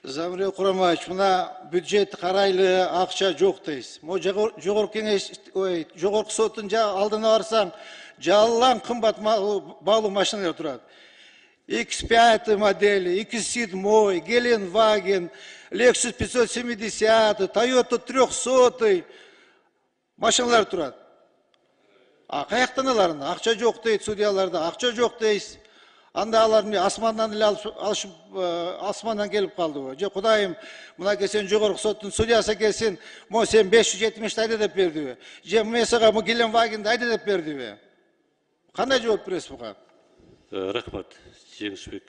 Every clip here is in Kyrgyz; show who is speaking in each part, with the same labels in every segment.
Speaker 1: Замир Курамович, мына бюджет карайлы, акча жок дейсиз. Жогорку кеңеш, жогорку соттун алдына барсаң, жалаң кымбат баалуу машиналар турат. X5 модели, X7, Геленваген, Lexus 570, Toyota 300 машиналар турат. А каяктан аларын? Акча жок дейт судьяларда, акча жок дейсиз. Анда алар асмандан эле алышып, асмандан келип калдыбы? Же Кудайым, мына келсен жогорку соттун судьясы келсин, мо сен 570 айда деп бердиби? Же мен сага бу Геленвагенди айда деп бердиби? Кандай жооп бересиз буга?
Speaker 2: Рахмат, Жеңишбек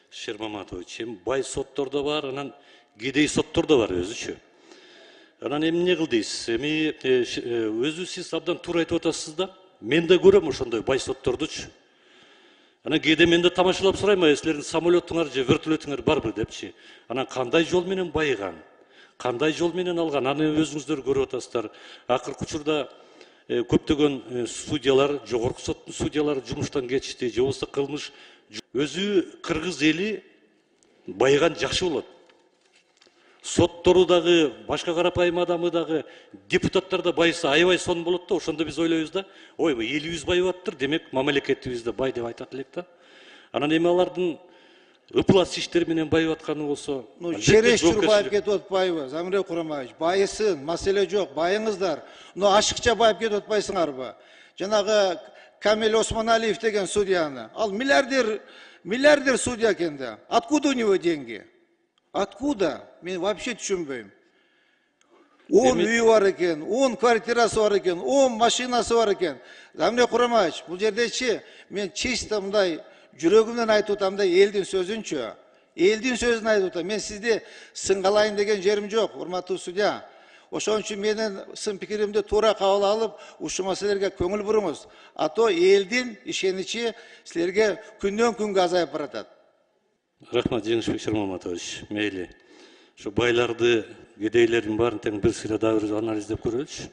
Speaker 2: Шермаматович. Бай соттор да бар, анан кедей соттор да бар өзүчү. Анан эмне кыл дейсиз? Өзү сиз абдан туура айтып атасыз да. Мен да көрөм ошондой бай соттордучу. Анан кээде мен да тамашалап сурайм, силердин самолетуңар же вертолетуңар барбы депчи. Анан кандай жол менен байыган, кандай жол менен алган, аны өзүңүздөр көрүп атасыздар. Акыркы учурда көптөгөн судьялар, жогорку соттун судьялары жумуштан кетишти, же болбосо кылмыш өзү кыргыз эли байыган жакшы болот. Соттору дагы, башка карапайым адамы дагы, депутаттар да байыса аябай сонун болот да, ошондо биз ойлойбуз да, ойбой, элибиз байып аттыр, демек мамлекетибиз да бай деп айтат элек да. Анан эми алардын ыплас иштери менен байып атканы болсо,
Speaker 1: чересчур байып кетип атпайбы, Замир Курамович? Байысын, маселе жок, байыңыздар. Но ашыкча байып кетип атпайсыңарбы? Жанагы Камил Осмоналиев деген судьяны, ал миллиардер судья экен да. Откуда у него деньги? Откуда? Мен вообще түшүнбөйм. 10 үйү бар экен, 10 квартирасы бар экен, 10 машинасы бар экен. Замир Курамович, бул жердечи мен чисто мындай жүрөгүмдөн айтып атам да, элдин сөзүнчү. Элдин сөзүн айтып атам. Мен сизди сыңгалайын деген жерим жок, урматтуу судья. Ошон үчүн менин сын пикиримди туура кабыл алып, ушул маселелерге көңүл буруңуз. А то элдин ишеничи силерге күндөн күнгө азайып баратат.
Speaker 2: Рахмат, Жеңишбек Шермаматович. Мейли. Şu байларды, кедейлердин баарын тең бир сыйра дагы анализдеп көрөлүчү.